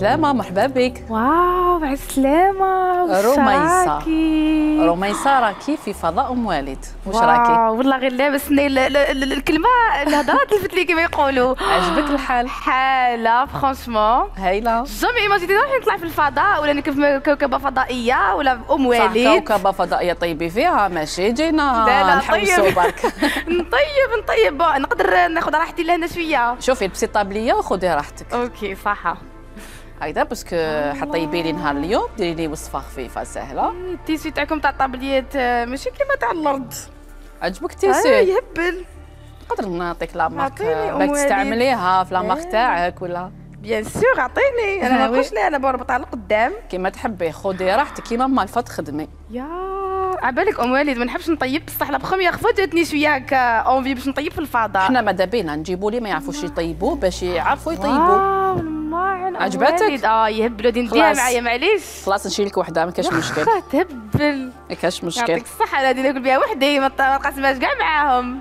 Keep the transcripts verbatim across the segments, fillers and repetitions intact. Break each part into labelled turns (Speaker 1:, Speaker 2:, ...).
Speaker 1: عالسلامة، مرحبا بك.
Speaker 2: واو عالسلامة.
Speaker 1: رميصة رميصة راكي في فضاء أم والد، واش راكي؟
Speaker 2: واو والله غير لابسني الكلمة الهضرة تلفت لي كيما يقولوا.
Speaker 1: عجبك الحال؟
Speaker 2: حالة فرانشمون
Speaker 1: هايلة.
Speaker 2: جامي ايماجيني روحي نطلع في الفضاء ولا نركب كوكبة فضائية ولا أم والد.
Speaker 1: كوكبة فضائية طيبي فيها ماشي جينا نحوسوا برك.
Speaker 2: نطيب نطيب نقدر ناخذ راحتي لهنا شوية.
Speaker 1: شوفي لبسي طابلية وخذي راحتك.
Speaker 2: اوكي صح.
Speaker 1: هكذا باسكو حطيبي لي نهار اليوم ديري لي وصفه خفيفه سهله.
Speaker 2: التيسي تاعكم تاع الطابليات ماشي كيما تاع الارض.
Speaker 1: عجبك التيسي؟
Speaker 2: اه يهبل.
Speaker 1: نقدر نعطيك لا مارك باك تستعمليها في لا مارك تاعك ولا؟
Speaker 2: بيان سور عطيني، انا ما نقولش لا انا بربطها لقدام.
Speaker 1: كيما تحبي خذي راحتك كيما ما الفات خدمي.
Speaker 2: يا عبالك ام والد ما نحبش نطيب بصح لا بخومييغ فوا جاتني شويه هكا اونفي باش نطيب في الفضاء.
Speaker 1: حنا ماذا بينا نجيبوا لي ما يعرفوش يطيبوا باش يعرفوا يطيبوا. عجبتك؟
Speaker 2: اه يهبلوا دي نديها معايا معليش.
Speaker 1: خلاص نشيل لك وحده ما كاش مشكل.
Speaker 2: تهبل
Speaker 1: ما كاش مشكل.
Speaker 2: يعطيك الصحه انا ناكل بها وحدي ما نقاسمهاش كاع معاهم.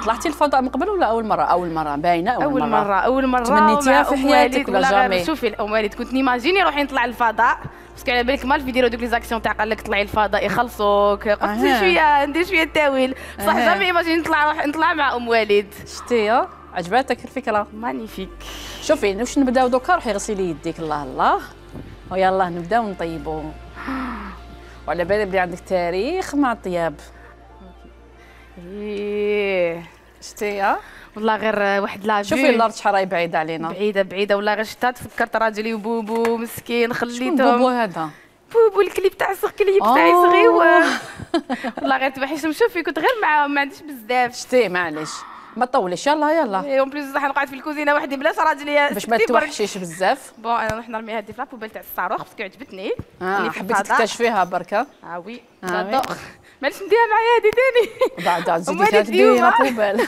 Speaker 1: طلعتي الفضاء من قبل ولا اول مره؟ اول مره باينه اول,
Speaker 2: أول
Speaker 1: مره
Speaker 2: مرة أول مرة
Speaker 1: تمنيتيها في حياتك ولا جامي؟
Speaker 2: شوفي الأم والد كنت نيماجيني روحي نطلع الفضاء باسكو على بالك مال في يديروا دوك لي زاكسيون تاع قال لك طلعي الفضاء يخلصوك قلت أه. شويه ندير شويه تاويل بصح أه. جامي ايماجيني نطلع روح نطلع مع أم والد.
Speaker 1: شتي عجبتك الفكره؟
Speaker 2: مانيفيك.
Speaker 1: شوفي واش نبداو دوكا روحي غسلي يديك الله الله ويلا نبداو نطيبوا. وعلى بالي بلي عندك تاريخ مع الطياب.
Speaker 2: ايه
Speaker 1: شتي
Speaker 2: والله غير واحد لا
Speaker 1: شوفي الارض شحال راهي بعيده علينا.
Speaker 2: بعيده بعيده والله غير شتا تفكرت راجلي وبوبو مسكين خليتهم.
Speaker 1: شكون بوبو هذا؟
Speaker 2: بوبو الكليب تاع الصغ كليب تاعي صغيور. والله غير توحش نشوفي كنت غير معاهم ما عنديش بزاف.
Speaker 1: شتي معليش ما تطوليش يلا يلا.
Speaker 2: اي اون بليس راح نقعد في الكوزينه وحدي بلاش راجلي
Speaker 1: باش ما توحشيش بزاف.
Speaker 2: بون انا نروح نرمي هذه في لابوبيل تاع الصاروخ باسكو عجبتني.
Speaker 1: اه حبيتي تكتشفيها بركه.
Speaker 2: اه وي جادور. معليش نديها معايا هذه ثاني.
Speaker 1: بعد زيدي تديري لابوبيل.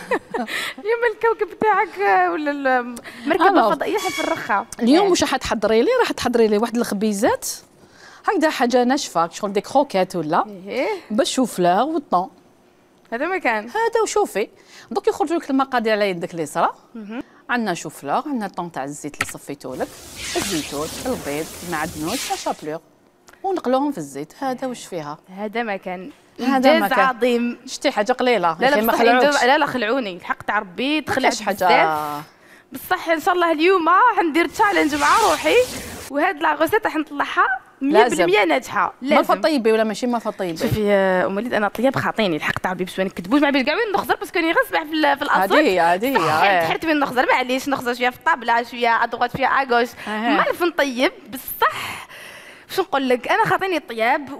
Speaker 2: اليوم الكوكب تاعك ولا المركبه الفضائيه حنفرخها.
Speaker 1: اليوم واش راح تحضري لي؟ راح تحضري لي واحد الخبيزات هكذا حاجه ناشفه شغل دي كروكيت ولا بالشوفلار والطون.
Speaker 2: هذا ما كان
Speaker 1: هذا وشوفي دوك يخرجوا لك المقادير على يدك اليسرى. عندنا شوفلار عندنا الطون تاع الزيت اللي صفيتو لك الزيتون البيض المعدنوس لا شابلور ونقلوهم في الزيت. هذا واش فيها؟
Speaker 2: هذا ما كان
Speaker 1: هذا ما
Speaker 2: كان عظيم.
Speaker 1: شتي حاجه قليله.
Speaker 2: لا لا
Speaker 1: ما خلعوكش.
Speaker 2: لا لا خلعوني الحق تاع ربي دخلت
Speaker 1: حاجه
Speaker 2: بصح ان شاء الله اليوم حندير تشالنج مع روحي وهاد لا غوسيت راح نطلعها مية بالمية ناجحه.
Speaker 1: ما فطيبي ولا ماشي ما فطيبي؟
Speaker 2: شوفي ام وليد انا طياب خاطيني الحق تاع ربي باش ما نكذبوش ما بيش كاع وين نخزر باسكو راني غنسبح في, في الاصل.
Speaker 1: هذه هي هذه هي
Speaker 2: حرت وين نخزر معليش نخزر شويه في الطابله شويه ادغوات شويه اغوش ما نعرف نطيب بصح واش نقول لك انا خاطيني الطياب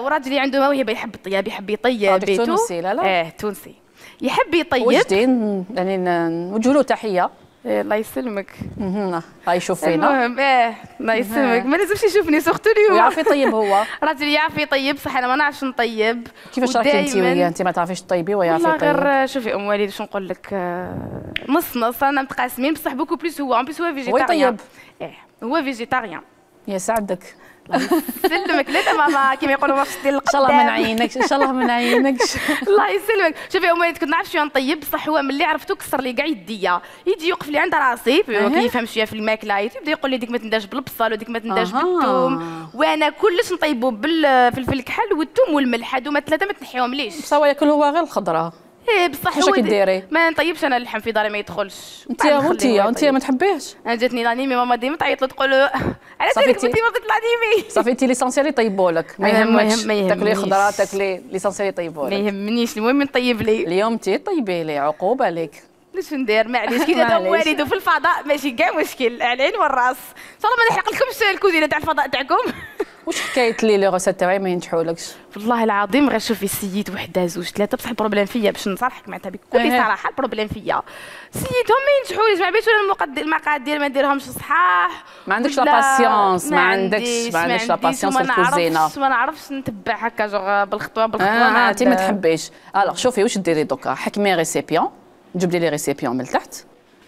Speaker 2: وراجلي عنده موهبه يحب الطياب يحب يطيب
Speaker 1: بيتو. تونسي لا لا
Speaker 2: اه تونسي يحب يطيب
Speaker 1: وجدين يعني نوجه له تحيه.
Speaker 2: إيه الله يسلمك.
Speaker 1: اها هاي يشوف فينا.
Speaker 2: المهم ايه الله يسلمك ما لازمش يشوفني سورتو اليوم.
Speaker 1: يعرف يطيب هو.
Speaker 2: راجلي يعرف يطيب صح انا ما نعرفش نطيب.
Speaker 1: كيفاش راكي انت وياه انت ما تعرفيش تطيبي ويعرف يطيب؟
Speaker 2: والله غير شوفي ام وليد واش نقول لك نص نص انا متقاسمين بصح بوكو بليس هو ان بليس هو فيجيتاريان.
Speaker 1: هو يطيب.
Speaker 2: ايه هو فيجيتاريان.
Speaker 1: يسعدك.
Speaker 2: يسلمك لا ماما كيما يقولوا ما فشتي
Speaker 1: ان شاء الله ما نعينكش ان شاء الله ما نعينكش.
Speaker 2: الله يسلمك. شوفي ام وليد كنت نعرف شويه نطيب بصح هو ملي عرفتو كسر لي كاع يديا يجي يوقف لي عند راسي كيفهم شويه في الماكله يبدا يقول لي ديك ما تنداش بالبصل وديك ما تنداش بالثوم وانا كلش نطيبو بالفلفل الكحل والثوم والملح هادو ما ثلاثه ما تنحيهم ليش.
Speaker 1: بصح ياكل هو غير الخضره.
Speaker 2: ايه بصح
Speaker 1: واش راكي ديري؟
Speaker 2: ما نطيبش انا اللحم في داري ما يدخلش.
Speaker 1: انت انت انت ما تحبيهش؟
Speaker 2: انا جاتني لانيمي ماما ديما تعيط له تقول له على بالك انت ما بديت لانيمي.
Speaker 1: صافي انت ليسونسيال يطيبوا لك ما يهمكش تاكلي خضره تاكلي ليسونسيال يطيبوا لك.
Speaker 2: ما يهمنيش المهم نطيب لي.
Speaker 1: اليوم انت طيبي لي عقوبه لك.
Speaker 2: واش ندير معليش كي جات ام والد وفي الفضاء ماشي كاع مشكل على العين والراس. ان شاء الله ما نحرق لكمش الكوزينه تاع الفضاء تاعكم.
Speaker 1: واش حكايه لي لي غوسيت تاعي ما ينجحولكش؟
Speaker 2: والله العظيم غير شوفي سيد وحده زوج ثلاثه بصح البروبليم فيا باش نصالحك معناتها بكل صراحه البروبليم فيا سيدهم ما ينجحوليش ما بيش ولا المقادير ما نديرهمش صحاح.
Speaker 1: ما عندكش لا باسيونس ما عندكش ما عندكش لا باسيونس في الكوزينه.
Speaker 2: ما نعرفش نتبع هكا جوغ بالخطوه بالخطوه.
Speaker 1: اه انت ما تحبيش. الوغ شوفي واش ديري دوكا حكمي ريسيبيون جبدي لي ريسيبيون من التحت.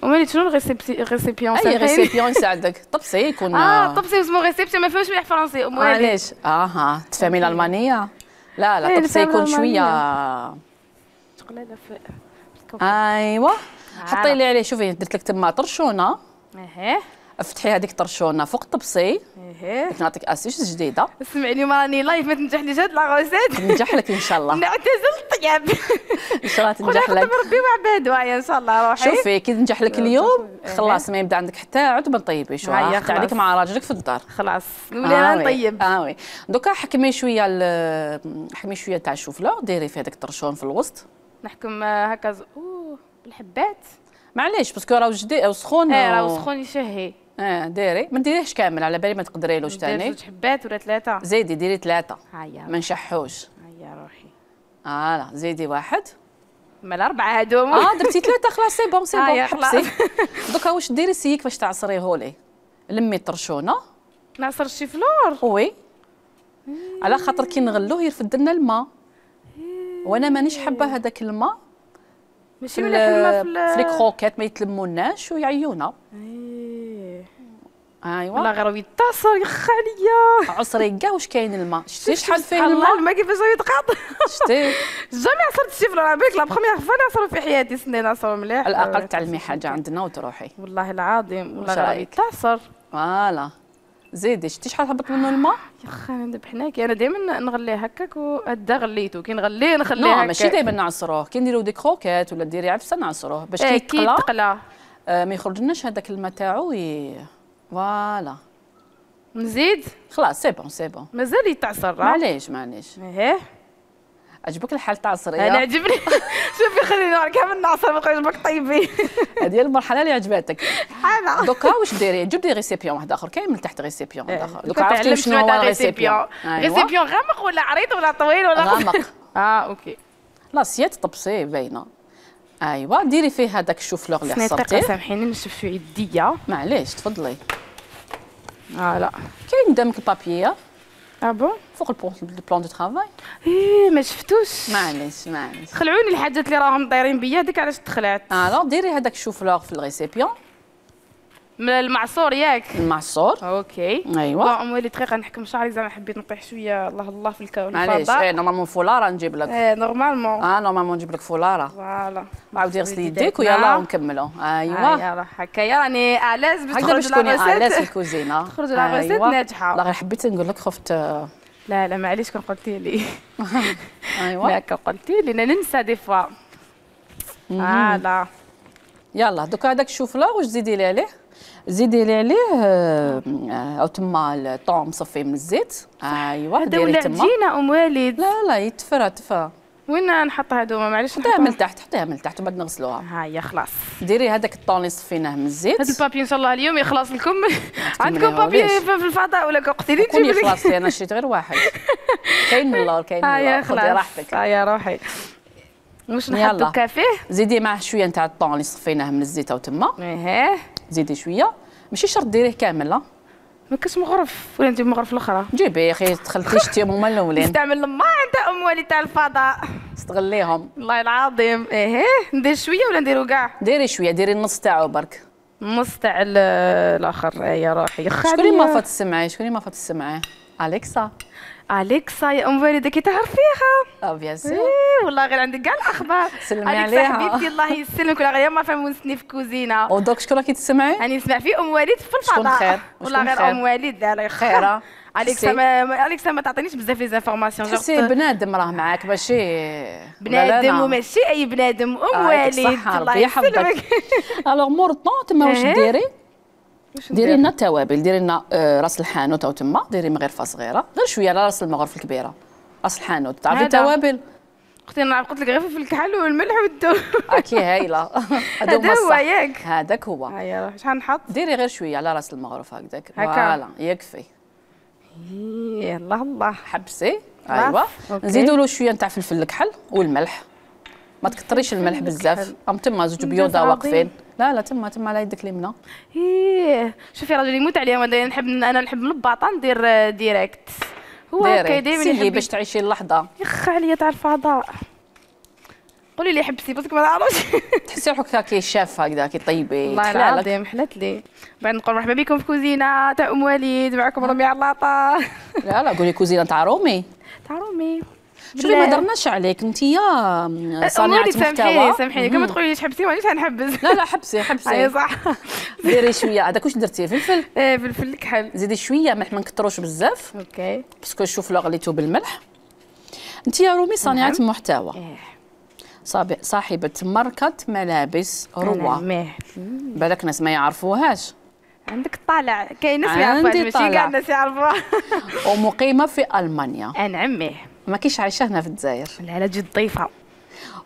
Speaker 2: ومالي شنو الريسيبيون؟
Speaker 1: اي ريسيبيون يساعدك طبسي يكون
Speaker 2: اه طبسي اسمه ريسيبسيون ما فهمش مليح فرنسي.
Speaker 1: معليش اها تفهمي الالمانيه؟ لا لا طبسي يكون شويه
Speaker 2: شغله
Speaker 1: ايوا حطي لي عليه. شوفي درت لك تما طرشونه
Speaker 2: اها
Speaker 1: افتحي هذيك الطرشونه فوق الطبسي.
Speaker 2: ايه
Speaker 1: نعطيك اسيس جديده.
Speaker 2: اسمعي اليوم راني لايف ما تنجحليش هاد لاغوسيت.
Speaker 1: تنجح لك ان شاء الله.
Speaker 2: نعتزل الطياب.
Speaker 1: ان شاء الله تنجح لك.
Speaker 2: ربي وعباد وايا ان شاء الله. روحي
Speaker 1: شوفي كي تنجح لك اليوم خلاص ما يبدا عندك حتى عود ما طيبيش. راح عليك مع راجلك في الدار.
Speaker 2: خلاص نولي انا نطيب.
Speaker 1: اه وي دوكا حكمي شويه حكمي شويه تاع الشوفله ديري في هذاك الطرشون في الوسط.
Speaker 2: نحكم هكا اوه بالحبات.
Speaker 1: معليش باسكو راه جديد سخون.
Speaker 2: اه راه سخون يشهي.
Speaker 1: اه ديري ما ديريهش كامل على بالي ما تقدريلوش ثاني.
Speaker 2: زوج حبات ولا ثلاثه؟
Speaker 1: زيدي ديري ثلاثه.
Speaker 2: هيا
Speaker 1: ما نشحوش.
Speaker 2: هيا روحي.
Speaker 1: اه زيدي واحد.
Speaker 2: مال اربعه هادوما.
Speaker 1: اه درتي ثلاثه خلاص سي بون سي بون
Speaker 2: حبسي.
Speaker 1: دوكا واش ديري سيك باش تعصريهولي. لمي الطرشونه.
Speaker 2: نعصر الشيفلور.
Speaker 1: وي على خاطر كي نغلوه يرفد لنا الماء. وانا مانيش حابه هذاك الماء.
Speaker 2: ماشي مليح الماء
Speaker 1: في لي كروكيت ما يتلموناش ويعيونا.
Speaker 2: ايه
Speaker 1: ايوا
Speaker 2: والله غير يتصر يا خاليه.
Speaker 1: عصري كاع واش كاين الماء. شتي شحال فيه
Speaker 2: الماء؟
Speaker 1: الماء
Speaker 2: الماء كيفاش يتقاط.
Speaker 1: شتي
Speaker 2: جامي عصرت الشيفلور على بالك لا بخومييغ فوا نعصرو في حياتي سنين نعصرو مليح.
Speaker 1: على الاقل تعلمي حاجه عندنا وتروحي.
Speaker 2: والله العظيم والله غير يتعصر.
Speaker 1: فوالا زيدي شتي شحال هبط منه الماء.
Speaker 2: يا خا انا ذبحناكي انا دائما نغليه هكاك وهدا غليته كي نغليه نخليه
Speaker 1: هكاك.
Speaker 2: هكاك
Speaker 1: ماشي دائما نعصروه كي نديرو دي كروكيت ولا ديري عفسه نعصروه باش
Speaker 2: كي
Speaker 1: كي
Speaker 2: يتقلى
Speaker 1: آه ما يخرجلناش هذاك الماء تاعو ي... فوالا.
Speaker 2: نزيد
Speaker 1: خلاص سي بون سي بون
Speaker 2: مازال يتعصر.
Speaker 1: معليش معليش.
Speaker 2: ايه
Speaker 1: عجبك الحال تاع العصريه؟
Speaker 2: انا عجبني. شوفي خليني كامل نعصر ما يعجبك طيبي.
Speaker 1: هذه المرحله اللي عجباتك.
Speaker 2: حاله
Speaker 1: دوكا واش ديري جيب دي ريسيبيون واحد اخر كاين من تحت ريسيبيون واحد اخر.
Speaker 2: دوكا عرفتي شنو هو الريسيبيون. ريسيبيون غامق ولا عريض ولا طويل ولا
Speaker 1: غامق؟
Speaker 2: اه اوكي.
Speaker 1: لاسيات طبسي باينه. ايوا ديري فيه هذاك الشوفلور اللي عصرتيه.
Speaker 2: سامحيني نشوف شو يديا.
Speaker 1: معليش تفضلي.
Speaker 2: فوالا
Speaker 1: كاين قدامك البابيه.
Speaker 2: اه بون
Speaker 1: فوق البلان دو ترافاي.
Speaker 2: ايه ما شفتوش.
Speaker 1: معليش معليش
Speaker 2: خلعوني الحاجات اللي راهم دايرين بيا هذيك علاش تخلعت.
Speaker 1: اه ديري هذاك الشوفلور في الريسيبيون
Speaker 2: من المعصور ياك
Speaker 1: المعصور.
Speaker 2: اوكي
Speaker 1: ايوا
Speaker 2: بون اموالي دقيقه نحكم شعري زعما حبيت نطيح شويه الله الله في الكون.
Speaker 1: معليش ايه نورمالمون فولاره نجيب لك.
Speaker 2: ايه نورمالمون
Speaker 1: اه نورمالمون نجيب لك فولاره.
Speaker 2: فوالا
Speaker 1: عاودي غسلي يديك ويلا ونكملوا. ايوا
Speaker 2: يلا هكايا راني الاز باش
Speaker 1: تخرج
Speaker 2: تخرج
Speaker 1: لا الاز في الكوزينه.
Speaker 2: تخرج لا غوسيت ناجحه.
Speaker 1: لا غير حبيت نقول لك خفت.
Speaker 2: لا لا معليش كون قلتي لي.
Speaker 1: ايوا
Speaker 2: لا كون قلتي لي ننسى دي فوا. فوالا
Speaker 1: يلا دوكا هذاك الشوفلور واش تزيدي لي عليه. زيدي لي عليه او تما الطون مصفي من الزيت. ايوا ديري تما.
Speaker 2: هذا عجينه ام والد.
Speaker 1: لا لا يتفرى تفا.
Speaker 2: وين نحط هذوما معليش
Speaker 1: حطيها من تحت حطيها من تحت وبعد نغسلوها.
Speaker 2: هيا خلاص.
Speaker 1: ديري هذاك الطون اللي صفيناه من الزيت.
Speaker 2: هذا البابي ان شاء الله اليوم يخلص لكم. عندكم بابي في الفضاء ولا قلتي لي
Speaker 1: تجيبي لي؟ خلاص انا شريت غير واحد. كاين من اللور كاين من اللور خذي راحتك.
Speaker 2: هيا روحي. واش نحطو كافيه؟
Speaker 1: زيدي معاه شويه نتاع الطون اللي صفيناه من الزيت او تما.
Speaker 2: ايه
Speaker 1: زيدي شويه ماشي شرط ديريه كامل. لا
Speaker 2: ما كاش مغرف ولا نجيب مغرف الاخرى.
Speaker 1: جيبي يا اخي دخلتي شتيهم هما الاولين.
Speaker 2: نستعمل الماء تاع ام والد تاع الفضاء.
Speaker 1: استغليهم
Speaker 2: والله العظيم. ايه ندير شويه ولا نديرو كاع؟
Speaker 1: ديري شويه ديري النص تاعو برك.
Speaker 2: النص تاع الاخر. يا روحي
Speaker 1: شكون اللي ما فات تسمعي شكون اللي ما فات تسمعي؟ اليكسا.
Speaker 2: اليكسا يا ام والد كي تعرفيها.
Speaker 1: اه بيان سور.
Speaker 2: إيه والله غير عندك كاع الاخبار.
Speaker 1: سلمي عليها
Speaker 2: حبيبتي الله يسلمك ولا غير ما فهموني في كوزينه.
Speaker 1: ودوك شكون راكي تسمعي؟
Speaker 2: راني نسمع في ام والد في الفضاء.
Speaker 1: شكون خير؟
Speaker 2: والله غير ام والد لا
Speaker 1: خيره.
Speaker 2: اليكسا ما اليكسا ما تعطينيش بزاف لي زانفورماسيون.
Speaker 1: تحسي بنادم راه معاك ماشي
Speaker 2: بنادم وماشي اي بنادم ام والد
Speaker 1: الله يحفظك. الوغ مور طون تما واش ديري؟ ديري لنا التوابل ديري لنا راس الحانوت او تما ديري من غير فا صغيره غير شويه على راس المغرف الكبيره. راس الحانوت تعرفي التوابل؟
Speaker 2: اختي انا قلت لك غير في الكحل والملح والثوم.
Speaker 1: اكي هايله.
Speaker 2: هذا هو ياك
Speaker 1: هذاك هو.
Speaker 2: هيا شحال نحط؟
Speaker 1: ديري غير شويه على راس المغرف هكذاك.
Speaker 2: هكا
Speaker 1: فوالا يكفي.
Speaker 2: الله الله
Speaker 1: حبسي. ايوا نزيدوا له شويه نتاع فلفل الكحل والملح. ما تكثريش الملح بزاف. ام تما زوج بيوضه واقفين. لا لا تما تما على يدك اليمنى.
Speaker 2: ايه شوفي راجل يموت عليا انا نحب انا نحب الباطا ندير ديريكت. هو هكا دائما
Speaker 1: يحب باش تعيشي اللحظه.
Speaker 2: يخ عليا تاع الفضاء. قولي لي حبسي باسكو ما نعرفش.
Speaker 1: تحسي روحك كي شاف هكذا كي طيبي.
Speaker 2: والله العظيم حلت لي. بعد نقول مرحبا بكم في كوزينه تاع ام وليد معكم رامي علاطه.
Speaker 1: لا لا قولي كوزينه تاع رومي.
Speaker 2: تاع رومي.
Speaker 1: شوفي ما درناش عليك انت يا صانعه محتوى.
Speaker 2: سامحيني سامحيني كما تقولي تحبسي مانيش غنحبس.
Speaker 1: لا لا حبسي حبسي.
Speaker 2: اي صح.
Speaker 1: ديري شويه هذاك واش درتي فلفل؟
Speaker 2: ايه فلفل الكحل.
Speaker 1: زيدي شويه ملح ما نكثروش بزاف.
Speaker 2: اوكي.
Speaker 1: باسكو شوف لو غليتو بالملح. انت يا رومي صانعه محتوى.
Speaker 2: ايه.
Speaker 1: صاحبه ماركه ملابس روا. بالك ناس ما يعرفوهاش.
Speaker 2: عندك طالع كاين ناس ما يعرفوهاش ماشي كاع الناس يعرفوها.
Speaker 1: ومقيمه في المانيا.
Speaker 2: انا عمي.
Speaker 1: ما كاينش عايشه هنا في الجزائر.
Speaker 2: لا لا جد ضيفه.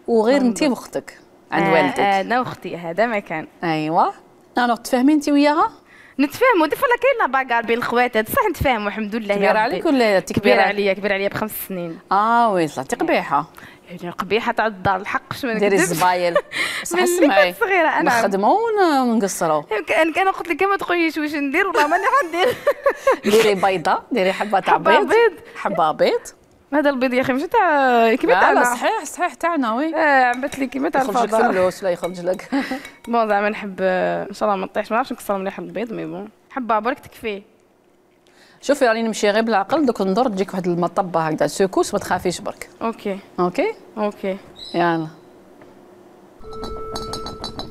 Speaker 1: وغير انت واختك عند
Speaker 2: آه
Speaker 1: والدك.
Speaker 2: انا واختي هذا ما كان.
Speaker 1: ايوا. انا تفاهمي انت وياها؟
Speaker 2: نتفاهموا دي فلا كاين لا باكار بين الخواتات بصح نتفاهموا الحمد لله.
Speaker 1: كبيره عليك ولا انت
Speaker 2: كبيره عليا؟ كبيره عليا بخمس سنين.
Speaker 1: اه وي طلعتي قبيحه.
Speaker 2: يعني قبيحه تاع الدار الحق باش ما نكذبش.
Speaker 1: ديري الزبايل.
Speaker 2: صح اسمعي صغيره انا
Speaker 1: نخدموا ونقصروا.
Speaker 2: انا انا قلت لك ما تقوليش واش ندير والله ماني غندير.
Speaker 1: ديري بيضه ديري حبه تاع بيض. حبه بيض.
Speaker 2: هذا البيض يا اخي ماشي تاع كيما تاعنا.
Speaker 1: لا صحيح صحيح تاعنا وي.
Speaker 2: اه عبت لي كيما تاع الفضاء.
Speaker 1: يخرج لك فلوس ولا يخرج لك.
Speaker 2: بون زعما نحب ان شاء الله ما نطيحش ما نعرفش نكسر مليح البيض مي بون حبه برك تكفي.
Speaker 1: شوفي راني نمشي غير بالعقل دوك ندور تجيك واحد المطبه هكذا سكوس ما تخافيش برك.
Speaker 2: اوكي
Speaker 1: اوكي
Speaker 2: اوكي
Speaker 1: يلا.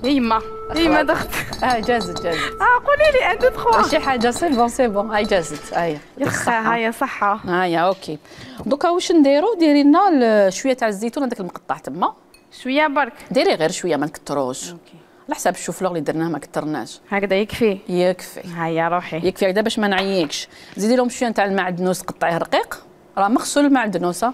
Speaker 2: يا يما يا يما دخت.
Speaker 1: اه جازت جازت.
Speaker 2: اه قولي لي انت تخوا
Speaker 1: شي حاجه سي بون سي بون هاي جازت هاي.
Speaker 2: يا خا هاي صحه.
Speaker 1: هاي اوكي. دوكا واش نديرو؟ ديري لنا شويه تاع الزيتون هذاك المقطع تما.
Speaker 2: شويه برك.
Speaker 1: ديري غير شويه ما نكثروش.
Speaker 2: اوكي.
Speaker 1: على حساب الشوفلور اللي درناه ما كثرناش.
Speaker 2: هكذا يكفي.
Speaker 1: يكفي.
Speaker 2: هيا روحي.
Speaker 1: يكفي هكذا باش ما نعييكش. زيدي لهم شويه تاع المعدنوس قطعيه رقيق. راه مغسول المعدنوس.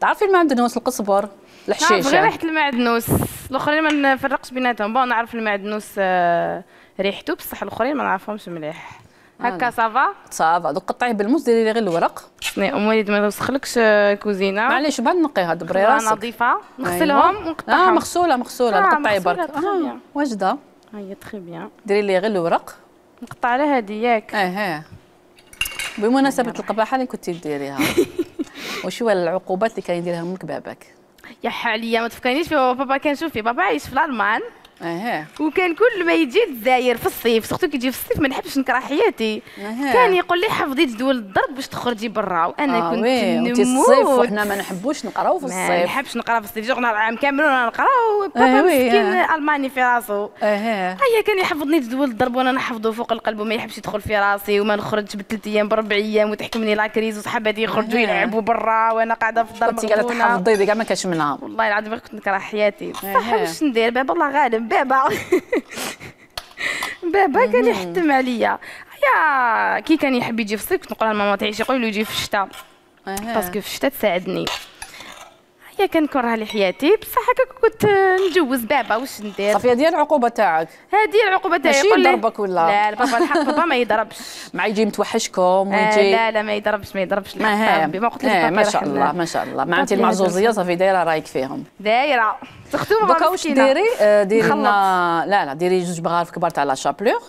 Speaker 1: تعرفي المعدنوس القزبر الحشيشه.
Speaker 2: نعرف غير ريحه المعدنوس الاخرين ما نفرقش بيناتهم. بون نعرف المعدنوس آه ريحته بصح الاخرين ما نعرفهمش مليح. هكا صافا
Speaker 1: صافا. دوك قطعيه بالموس ديري لي غير الورق.
Speaker 2: ام وليد ما توسخلكش كوزينه.
Speaker 1: معليش بعد نقيها دبري راسك.
Speaker 2: نظيفه نغسلهم ونقطعهم.
Speaker 1: اه مغسوله مغسوله
Speaker 2: آه
Speaker 1: نقطعي برك.
Speaker 2: اه
Speaker 1: واجده.
Speaker 2: هيا تخي بيان.
Speaker 1: ديري لي غير الورق.
Speaker 2: نقطع على هذه ياك.
Speaker 1: اه ها بمناسبه القباحه اللي كنتي ديريها. وش هو العقوبات اللي كان يديرها امك باباك؟
Speaker 2: يا حاليا ما تفكرنيش في بابا. كان شوفي بابا عايش في الالمان.
Speaker 1: اها.
Speaker 2: وكان كل ما يجي للجزائر في الصيف سورتو كي يجي في الصيف ما نحبش نكره حياتي.
Speaker 1: أه.
Speaker 2: كان يقول لي حفظي جدول الضرب باش تخرجي برا وانا
Speaker 1: آه
Speaker 2: كنت
Speaker 1: نموت. الصيف وحنا ما نحبوش نقراو في الصيف.
Speaker 2: ما نحبش نقرا في الصيف جوغنا العام كامل وانا نقراو. بابا مسكين الماني في راسو.
Speaker 1: اها.
Speaker 2: هيا كان يحفظني جدول الضرب وانا نحفظه فوق القلب وما يحبش يدخل في راسي وما نخرجش بالثلاث ايام بربع ايام وتحكمني لاكريز وصحاباتي يخرجوا يلعبوا برا وانا قاعده في الدار.
Speaker 1: كنتي قاعده تحفظي كاع ما كانش منها.
Speaker 2: والله العظيم كنت نكره حياتي بصح واش ندير بابا الله غالب. بابا بابا كان يحتم عليا. يا كي كان يحب يجي في الصيف كنت نقول لماما تعيشي يقول له يجي في الشتاء باسكو في الشتاء تساعدني. هي كان كره لي حياتي بصح هكا كنت نجوز بابا واش ندير.
Speaker 1: صافي هذه العقوبه تاعك.
Speaker 2: هذه العقوبه تاعي.
Speaker 1: ماشي يضربك ولا
Speaker 2: لا بابا الحق بابا ما يضربش.
Speaker 1: مع يجي متوحشكم ويجي.
Speaker 2: آه لا لا ما يضربش ما يضربش.
Speaker 1: ما
Speaker 2: ما قلت لك
Speaker 1: آه ما شاء الله ما شاء الله. مع انت المعزوزيه صافي دايره رايك فيهم.
Speaker 2: دايره تختوم
Speaker 1: دوكا واش ديري؟ ديري لنا لا لا ديري جوج بغارف كبار تاع لا شابلور.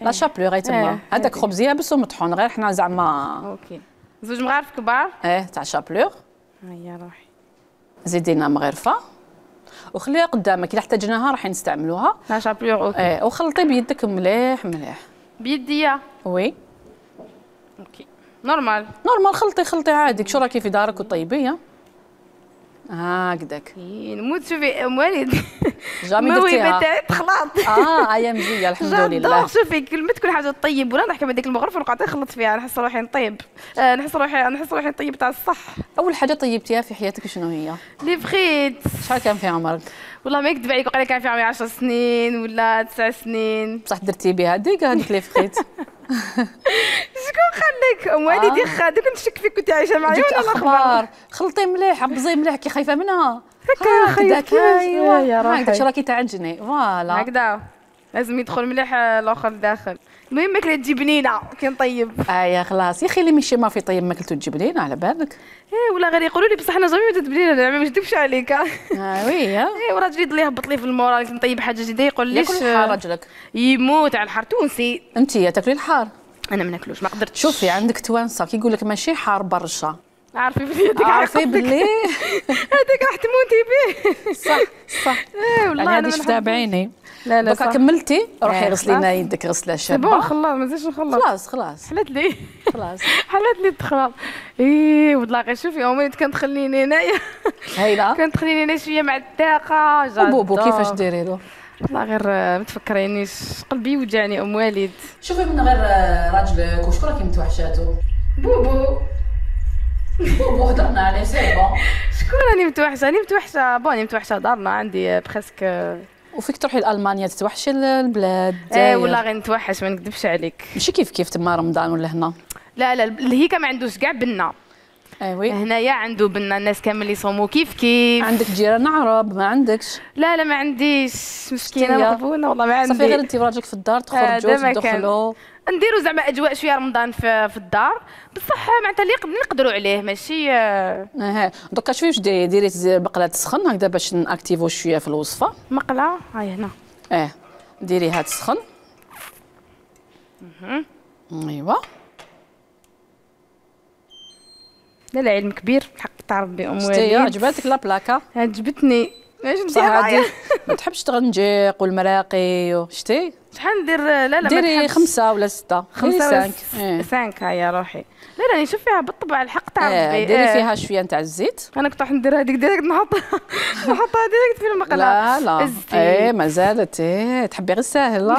Speaker 1: لا شابلور هاي تما هذاك خبز يابس ومطحون غير حنا زعما.
Speaker 2: اوكي زوج مغارف كبار.
Speaker 1: اه تاع شابلور.
Speaker 2: هيا روحي.
Speaker 1: زيدي لنا مغرفه وخليها قدامك الا احتاجناها راح نستعملوها.
Speaker 2: لا شابلور اوكي.
Speaker 1: اه وخلطي بيدك مليح مليح.
Speaker 2: بيديا.
Speaker 1: وي.
Speaker 2: اوكي نورمال.
Speaker 1: نورمال خلطي خلطي عادي شو راكي في دارك وطيبيه. هكذاك.
Speaker 2: نموت شوفي ام وليد.
Speaker 1: جامي درتيها.
Speaker 2: الموهبه تاعي تخلط.
Speaker 1: اه ايا مزيه الحمد لله.
Speaker 2: شوفي كل ما تكون حاجه طيب ولا نحكي هذيك المغرفه ونقعد نخلط فيها نحس روحي نطيب. آه نحس روحي نحس روحي نطيب تاع الصح.
Speaker 1: اول حاجه طيبتيها في حياتك شنو هي؟
Speaker 2: لي فخيت.
Speaker 1: شحال كان في عمرك؟
Speaker 2: والله ما يكذب عليك وقال لي كان في عمري عشر سنين ولا تسع سنين.
Speaker 1: بصح درتي بها هذيك هذيك لي فخيت.
Speaker 2: شكون خليك ام والدي خادك نشك فيك كنتي عايشه معايا ولا
Speaker 1: الاخبار. خلطي مليح عبزي مليح كي خايفه منها.
Speaker 2: هكا خيطك
Speaker 1: ايوا يا روحي هكذا راكي تعجني فوالا
Speaker 2: هكذا لازم يدخل مليح الاخر لداخل. المهم ماكله تجي بنينه كي نطيب.
Speaker 1: ايا خلاص يا اخي اللي ماشي ما في طيب ماكلته تجي بنينه على بالك.
Speaker 2: ايه ولا غير يقولوا لي بصح انا جامي ما تبنينه ما نكذبش عليك.
Speaker 1: اه وي
Speaker 2: ايه وراجلي يضل يهبط لي في المورال نطيب حاجه جديده يقول لي
Speaker 1: ياكل الحار راجلك
Speaker 2: يموت على الحار تونسي.
Speaker 1: انت تاكلي الحار؟
Speaker 2: انا ما ناكلوش ما قدرتش.
Speaker 1: شوفي عندك توانسه كيقول لك ماشي حار برشا.
Speaker 2: عارفي بلي هذيك
Speaker 1: عارفي بلي
Speaker 2: هذيك راح تموتي به.
Speaker 1: صح صح.
Speaker 2: ايه والله
Speaker 1: انا هذه شفتها بعيني.
Speaker 2: لا لا
Speaker 1: دوكا كملتي روحي غسلي لنا يدك غسله شابه.
Speaker 2: بون خلاص ما نزيدش نخلص.
Speaker 1: خلاص خلاص
Speaker 2: حلت لي
Speaker 1: خلاص
Speaker 2: حلت لي التخراب. ايه والله غير شوفي امي كندخليني هنايا
Speaker 1: هايله
Speaker 2: كندخليني هنا شويه مع الداقه جا
Speaker 1: بوبو كيفاش ديري له؟
Speaker 2: والله غير ما تفكرينيش قلبي يوجعني ام والد.
Speaker 1: شوفي من غير راجلك وشكون راكي متوحشاتو؟
Speaker 2: بوبو
Speaker 1: بوبو هضرنا عليه سي بون.
Speaker 2: شكون راني متوحشه؟ راني متوحشه بوني متوحشه دارنا عندي بريسك.
Speaker 1: وفيك تروحي لالمانيا تتوحشي البلاد؟
Speaker 2: ايه والله غير نتوحش ما نكذبش عليك.
Speaker 1: ماشي كيف كيف تما رمضان ولا هنا؟
Speaker 2: لا لا الهيكا ما عندوش كاع بنه.
Speaker 1: ايوي
Speaker 2: هنايا عنده بنه الناس كامل يصوموا كيف كيف.
Speaker 1: عندك جيران عرب ما عندكش؟
Speaker 2: لا لا ما عنديش مسكينه مغبونه والله ما عندي.
Speaker 1: صافي غير انت وراجلك في الدار تخرجوا تدخلوا
Speaker 2: نديروا زعما اجواء شويه رمضان في, في الدار بصح معناتها اللي نقدروا عليه ماشي.
Speaker 1: اها دوكا شوفي واش ديري ديري بقله تسخن هكذا باش ناكتيفو شويه في الوصفه.
Speaker 2: مقله هاي هنا
Speaker 1: اه ديريها تسخن.
Speaker 2: اها
Speaker 1: ايوا لا
Speaker 2: لا علم كبير حق تاع ربي ام والد.
Speaker 1: عجبتك لا بلاكا؟
Speaker 2: عجبتني واش
Speaker 1: ندير ما تحبش تغنجيق والمراقي شتي
Speaker 2: شحال ندير؟ لا لا
Speaker 1: ديري خمسة ولا ستة
Speaker 2: خمسة ولا سانك هيا روحي. لا راني نشوف فيها بالطبع الحق تاع ربي.
Speaker 1: ديري فيها شويه نتاع الزيت.
Speaker 2: انا كنت راح ندير هذيك ديريكت نحطها نحطها ديريكت في المقله.
Speaker 1: لا لا ايه مازالت ايه تحبي غير ساهل لا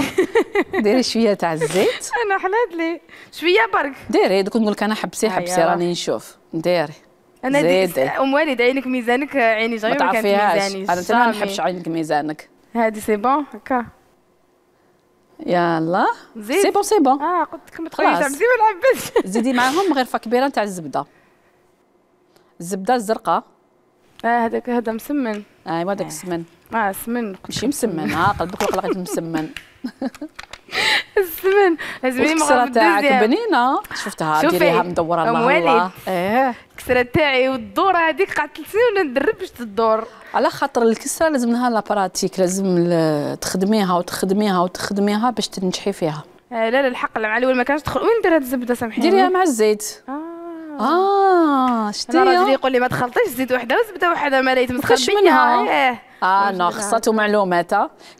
Speaker 1: ديري شويه تاع الزيت.
Speaker 2: انا حلات لي شويه برك
Speaker 1: ديري دوك نقول لك انا حبسي حبسي راني نشوف ديري.
Speaker 2: انا ديت ام والد عينك ميزانك عيني جاي ما كانت ميزاني.
Speaker 1: انا تما ما نحبش عينك ميزانك.
Speaker 2: هادي سي بون هكا
Speaker 1: يلا سي بون سي بون.
Speaker 2: اه قلت لكم تخلي تعبسي ما نعبسش.
Speaker 1: زيدي معاهم غرفه كبيره نتاع الزبده الزبده الزرقاء.
Speaker 2: اه هذاك هذا مسمن.
Speaker 1: ايوا داك السمن.
Speaker 2: اه سمن
Speaker 1: ماشي مسمن ها قلبك وقع لقيت مسمن.
Speaker 2: السمن لازمني
Speaker 1: الكسره تاعك بنينه شفتها ديريها مدوره الله الله. ايه
Speaker 2: الكسره تاعي والدوره هذيك قعدت ثلاث سنين ندرب باش تدور
Speaker 1: على خاطر الكسره لازم لها لا براتيك لازم تخدميها وتخدميها وتخدميها باش تنجحي فيها.
Speaker 2: آه لا لا الحق مع الاول ما كانش تدخل. وين ندير هاد الزبده سامحيني؟
Speaker 1: ديريها مع الزيت.
Speaker 2: اه
Speaker 1: اه شتي
Speaker 2: انا راجلي يقول لي ما تخلطيش زيت وحده وزبده وحده ما ريت
Speaker 1: متخلطش منها. اه اه لا خصاتو معلومات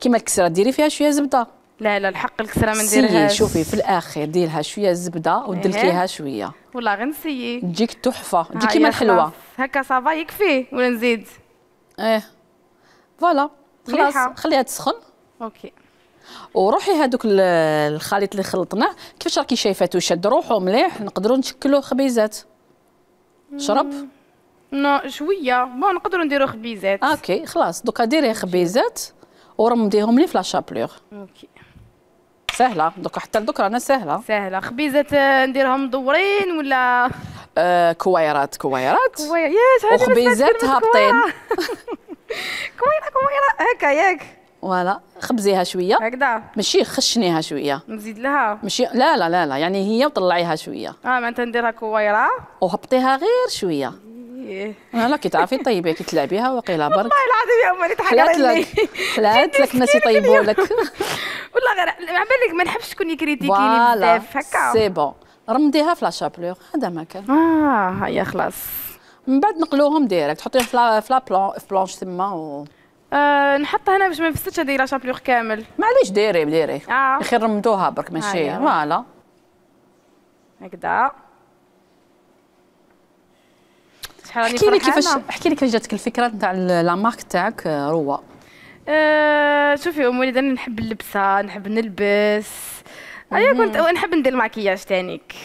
Speaker 1: كيما الكسره ديري فيها شويه زبده.
Speaker 2: لا لا الحق الكسره ما نديرهاش.
Speaker 1: شوفي في الاخير ديرها شويه زبده ودلكيها شويه
Speaker 2: والله غير نسيي
Speaker 1: تجيك تحفه تجي كيما الحلوه
Speaker 2: هكا صافا يكفي ولا نزيد؟
Speaker 1: ايه فوالا خلاص خليها تسخن.
Speaker 2: اوكي
Speaker 1: وروحي هذوك الخليط اللي خلطناه كيفاش راكي شايفاتو شاد روحو مليح نقدروا نشكلوه خبيزات. شرب
Speaker 2: نو شويه بون نقدروا نديروا خبيزات.
Speaker 1: اوكي خلاص دوكا ديري خبيزات ورمديهم لي في لاشابلور.
Speaker 2: اوكي
Speaker 1: سهله دوكا حتى لدوك رانا سهله
Speaker 2: سهله. خبيزات نديرهم مدورين ولا
Speaker 1: آه كويرات كويرات
Speaker 2: كوير يا
Speaker 1: وخبيزات هابطين.
Speaker 2: كويره كويره هكا ياك
Speaker 1: فوالا خبزيها شويه
Speaker 2: هكذا
Speaker 1: ماشي خشنيها شويه
Speaker 2: نزيد لها
Speaker 1: ماشي لا لا لا لا يعني هي وطلعيها شويه.
Speaker 2: اه معناتها نديرها كويره
Speaker 1: وهبطيها غير شويه.
Speaker 2: ايه
Speaker 1: لا كي تعرفي طيبي كي تلعبيها وقيله برك.
Speaker 2: والله العظيم يا امي
Speaker 1: تحقري لي حلات لك الناس يطيبوا لك.
Speaker 2: والله غير مع بالك ما نحبش شكون يكريتيكيني بزاف هكا.
Speaker 1: سي بون رمديها في لاشابلور هذا ما كان.
Speaker 2: اه هيا خلاص
Speaker 1: من بعد نقلوهم ديريكت تحطيهم في لا في لا في بلونش تما و
Speaker 2: آه نحطها هنا باش ما نفسدش هذه لاشابلور كامل.
Speaker 1: معليش ديري ديري
Speaker 2: اه
Speaker 1: خير رمدوها برك ماشي فوالا
Speaker 2: هكذا. شحال راني
Speaker 1: احكي لي كيفاش احكي لي كيفاش جاتك الفكره نتاع لا مارك تاعك روا؟
Speaker 2: أه شوفي ام وليد انا نحب اللبسه نحب نلبس. ايا كنت نحب ندير الماكياج تانيك.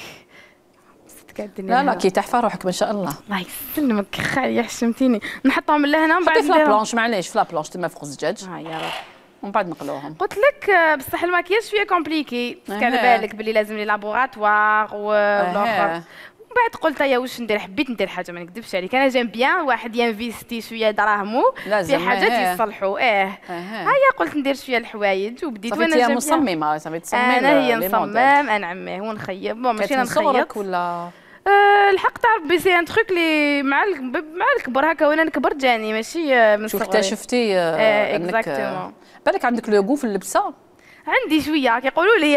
Speaker 1: لا لا كي تحفه روحك ما شاء الله.
Speaker 2: الله يسلمك خالي حشمتيني. نحطهم لهنا من بعد
Speaker 1: في لا بلونش معليش في لا بلونش تما فوق الزجاج.
Speaker 2: ها يا روحي
Speaker 1: ومن بعد نقلوهم.
Speaker 2: قلت لك بصح الماكياج شويه كومبليكي باسكو على بالك بلي لازم لي لابوغاتوار والاخر. من بعد قلت يا واش ندير حبيت ندير حاجه ما نكذبش عليك انا جيم بيان واحد ينفيستي شويه دراهمو في حاجات يصلحوا ايه هيا قلت ندير شويه الحوايج وبديت وانا جيم
Speaker 1: مصممه صافي تصممي
Speaker 2: انا هي نصمم انعميه ونخيب بون ماشي
Speaker 1: نخيط ولا
Speaker 2: أه الحق تاع ربي سي ان تروك لي مع مع الكبر هكا وانا نكبر جاني ماشي من
Speaker 1: صغري. شوف اكتشفتي
Speaker 2: اه انك
Speaker 1: بالك عندك لوغو في اللبسه.
Speaker 2: عندي شويه كيقولوا لي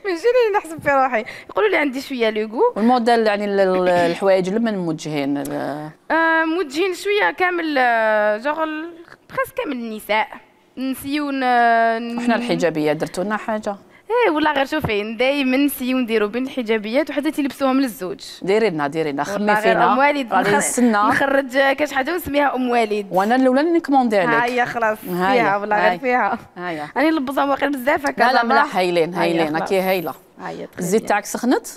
Speaker 2: ماشي لي نحسب في روحي يقولوا لي عندي شويه لوغو.
Speaker 1: والموديل يعني الحوايج لمن موجهين؟
Speaker 2: آه موجهين شويه كامل جوغ بريس كامل النساء نسيو
Speaker 1: احنا الحجابيه درتوا لنا حاجه.
Speaker 2: ايه ولا غير شوفي دايما نسيو نديرو بين الحجابيات وحتى تيلبسوهم للزوج.
Speaker 1: ديري لنا ديري لنا خمي
Speaker 2: غير
Speaker 1: فينا
Speaker 2: ام والد
Speaker 1: راني نستنى
Speaker 2: نخرج كاش حاجه ونسميها ام والد.
Speaker 1: وانا الاولى اللي نكموندي عليك.
Speaker 2: ها هي خلاص فيها ولا غير فيها.
Speaker 1: ها هي
Speaker 2: راني نلبسهم واقيلا بزاف هكا.
Speaker 1: لا لا ملاح هايلين هايلين هاكي هايله.
Speaker 2: ها هي
Speaker 1: الزيت تاعك سخنت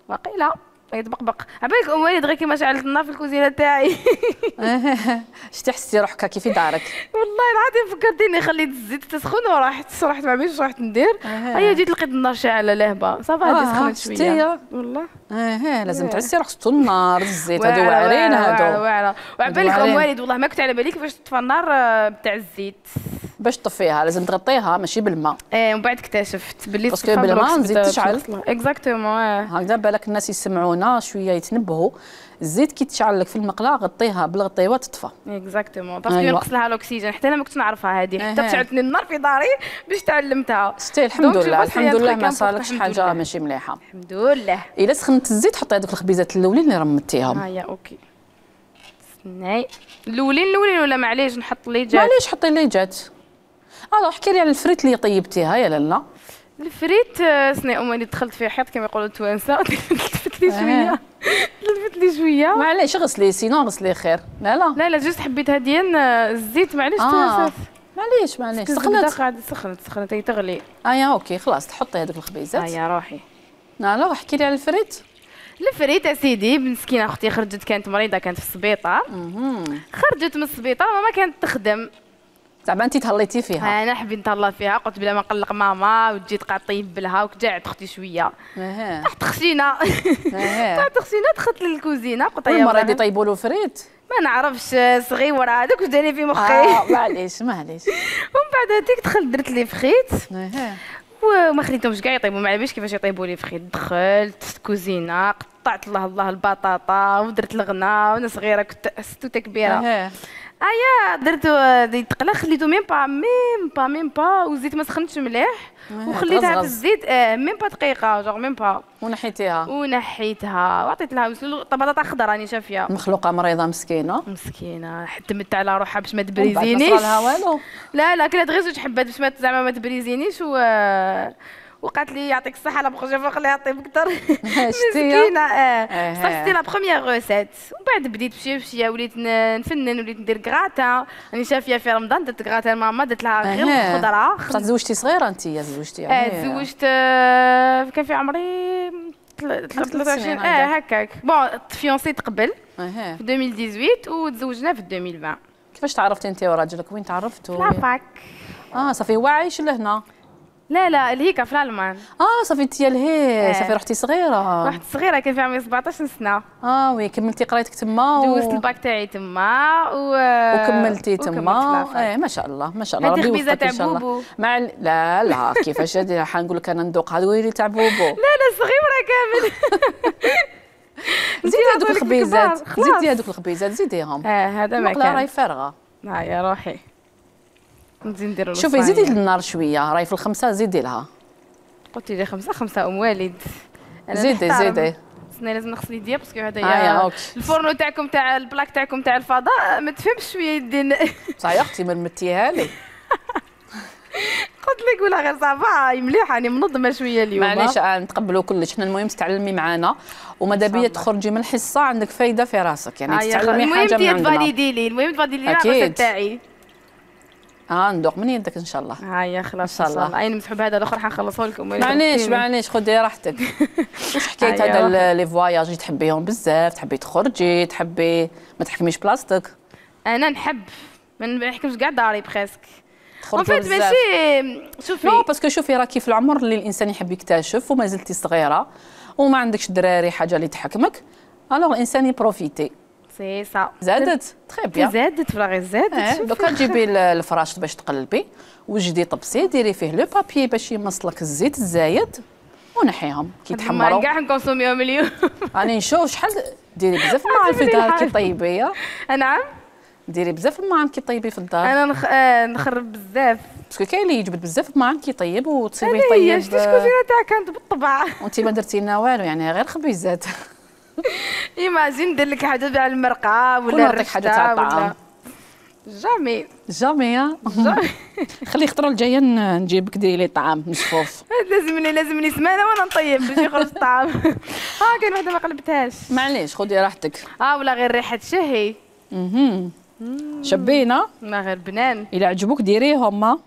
Speaker 2: واقيلا يتبقبق. عبالك ام والد غير كيما شعلت النار في الكوزينه تاعي.
Speaker 1: شتي حسيتي روحك كي في دارك؟
Speaker 2: والله العظيم فكرتيني خليت الزيت تسخن ورحت رحت ما عرفتش رحت ندير. هيا جيت لقيت النار شاعله لاهبه صافا هادي سخنت شويه والله.
Speaker 1: اه لازم تعسي روحك تطول النار الزيت هادو واعرين هادو
Speaker 2: واعره واعره. وعبالك ام والد والله ما كنت على بالي كيفاش تطفى النار بتاع الزيت.
Speaker 1: باش تطفيها لازم تغطيها ماشي بالماء.
Speaker 2: ايه ومن بعد اكتشفت باللي
Speaker 1: باسكو بالماء نزيد تشعل.
Speaker 2: اكزاكتومون.
Speaker 1: هكذا بالك الناس يسمعونا شويه يتنبهوا. الزيت كي تشعل لك في المقله غطيها بالغطيوه تطفى.
Speaker 2: اكزاكتومون باسكو ينقص لها الاكسجين حتى انا ما كنتش نعرفها هذه حتى شعلتني النار في داري باش تعلمتها.
Speaker 1: ستي الحمد لله الحمد لله ما صارلكش حاجه ماشي مليحه
Speaker 2: الحمد لله.
Speaker 1: الا سخنت الزيت حطي هذوك الخبيزات الاولين اللي رمتيهم.
Speaker 2: ها هي اوكي استناي الاولين الاولين ولا معليش نحط اللي جات؟
Speaker 1: معليش حطي اللي جات. الو احكي لي على الفريت اللي طيبتيها يا لاله.
Speaker 2: الفريت سني ام اللي دخلت فيه حيط كما يقولوا التوانسه لفت لي شويه لفت لي شويه.
Speaker 1: معليش غسلي سينو غسلي خير. لا لا
Speaker 2: لا لا جوست حبيتها ديال الزيت معليش
Speaker 1: آه.
Speaker 2: توانسات.
Speaker 1: معليش معليش سخنت
Speaker 2: قاعده سخنت سخنت هي تغلي.
Speaker 1: اه يا اوكي خلاص تحطي هذوك الخبيزات.
Speaker 2: ها يا روحي.
Speaker 1: لا لا احكي لي على الفريت.
Speaker 2: الفريت اسيدي مسكينه اختي خرجت كانت مريضه كانت في السبيطار. خرجت من السبيطار وما كانت تخدم.
Speaker 1: زعما انت تهليتي فيها.
Speaker 2: انا حبيت نتهلا فيها قلت بلا ما نقلق ماما وتجي تقعد طيب لها وكجعت اختي شويه.
Speaker 1: اها
Speaker 2: تحت خشينه. تحت خشينه دخلت للكوزينه قلت
Speaker 1: يا مريض يطيبوا له فريت.
Speaker 2: ما نعرفش صغيره هذاك واش داني في مخي.
Speaker 1: اه معليش معليش.
Speaker 2: ومن بعد هذيك دخلت درت لي فخيت.
Speaker 1: اها
Speaker 2: وما خليتهمش كاع يطيبوا ما علابيش كيفاش يطيبوا لي فخيت. دخلت الكوزينه قطعت الله الله البطاطا ودرت الغنا وانا صغيره كنت ستوته كبيره.
Speaker 1: اها
Speaker 2: ايا درتو يتقلى خليتو ميم با ميم با ميم با والزيت ما سخنتش مليح وخليتها في الزيت اه ميم با دقيقه جوغ ميم با
Speaker 1: ونحيتيها
Speaker 2: ونحيتها وعطيت لها بطاطا خضراء راني شافيه.
Speaker 1: مخلوقه مريضه مسكينه
Speaker 2: مسكينه حتمت على روحها باش ما تبريزينيش.
Speaker 1: ما صرالها والو.
Speaker 2: لا لا كلات غير زوج حبات باش ما زعما ما تبريزينيش و وقالت لي يعطيك الصحه لا بروجين فوا خليها طيب اكثر. مسكينه اه صافي لا بروميير روسيت. ومن بعد بديت بشويه بشويه وليت نفنن وليت ندير كراتا راني شافيه في رمضان درت كراتا لماما درت لها غير الخضره.
Speaker 1: بصح تزوجتي صغيره انت يا زوجتي
Speaker 2: يعني. اه تزوجت كان في عمري ثلاثة وعشرين اه هكاك. بون تفيونسيت قبل في ألفين وثمانية عشر وتزوجنا في ألفين وعشرين.
Speaker 1: كيفاش تعرفتي انت وراجلك وين تعرفتوا؟
Speaker 2: لافاك.
Speaker 1: اه صافي هو عايش لهنا.
Speaker 2: لا لا لهيكا في الالمان.
Speaker 1: اه صافي انت لهيه. صافي رحتي صغيره.
Speaker 2: رحت صغيره كان في عمري سبعطاش سنه.
Speaker 1: اه وي كملتي قرايتك تما.
Speaker 2: دوزت الباك تاعي تما و...
Speaker 1: وكملتي تما. ايه ما شاء الله ما شاء الله ربي يوفقك ان شاء الله. مع لا لا كيفاش هادي حنقول لك انا ندوق هذا ويلي تاع بوبو.
Speaker 2: لا لا صغيره كامل.
Speaker 1: زيدي هذوك الخبيزات زيدي هذوك الخبيزات زيديهم.
Speaker 2: اه هذا ما كان.
Speaker 1: المقله راهي فارغه.
Speaker 2: ها يا روحي نزيد نديرو.
Speaker 1: شوفي زيدي النار شويه راهي في الخمسه زيدي لها.
Speaker 2: قلتي لي خمسه خمسه ام والد.
Speaker 1: زيدي زيدي.
Speaker 2: استنى لازم نغسل يديا باسكو هذا
Speaker 1: آه
Speaker 2: الفورنو تاعكم تاع البلاك تاعكم تاع الفضاء ما تفهمش شويه يدين.
Speaker 1: صح يا اختي ما متيها لي.
Speaker 2: قلت لك ولا غير صافا مليحه راني منظمه شويه اليوم.
Speaker 1: معليش نتقبلوا كلش حنا المهم تتعلمي معنا وماذا بيا تخرجي من الحصه عندك فايده في راسك يعني تتعلمي حاجه من عندنا.
Speaker 2: المهم تفاليدي لي المهم تفاليدي لي الراسه تاعي.
Speaker 1: اه ندوق من يدك ان شاء الله.
Speaker 2: ها يا خلاص ان شاء الله. اي نمسحوا بهذا الاخر حنخلصوه لكم.
Speaker 1: معليش معليش خدي راحتك. واش حكايه هذا لي فواياج تحبيهم بزاف تحبي تخرجي تحبي ما تحكميش بلاصتك؟
Speaker 2: انا نحب ما نحكمش كاع داري بريسك.
Speaker 1: تخرجوا بزاف.
Speaker 2: ماشي شوفي
Speaker 1: نو باسكو شوفي راكي في العمر اللي الانسان يحب يكتشف وما زلتي صغيره وما عندكش دراري حاجه اللي تحكمك الوغ الانسان يبروفيتي.
Speaker 2: سي سا
Speaker 1: زادت تخي بيان
Speaker 2: زادت فراغي زادت.
Speaker 1: دوكا تجيبي الفراش باش تقلبي وجدي طبسي ديري فيه لو بابي باش يمصلك الزيت الزايد ونحيهم كي يتحمروا.
Speaker 2: كاع نكونسوميهم اليوم.
Speaker 1: راني نشوف شحال ديري بزاف الماعن في الدار كي طيبي.
Speaker 2: نعم
Speaker 1: ديري بزاف الماعن كي طيبي في الدار.
Speaker 2: انا نخ... آه نخرب بزاف
Speaker 1: باسكو كاين اللي يجبد بزاف الماعن كي طيب وتصيبيه
Speaker 2: طيب.
Speaker 1: طيب.
Speaker 2: شتي الكوزينه تاعك كانت بالطبع.
Speaker 1: وانت ما درتي لنا والو يعني غير خبيزات.
Speaker 2: ايماجين ندير لك حاجه تاع المرقه ولا
Speaker 1: نعطيك حاجه تاع الطعام.
Speaker 2: جامي
Speaker 1: جامي. خلي خطره الجايه نجيبك ديري لي طعام مصفوف.
Speaker 2: لازمني لازمني سمانه وانا نطيب باش يخرج الطعام. اه كاين وحده ما قلبتهاش.
Speaker 1: معليش خذي راحتك.
Speaker 2: اه ولا غير ريحه شهي.
Speaker 1: اها شبينا.
Speaker 2: ما غير بنان.
Speaker 1: الا عجبوك ديريهم.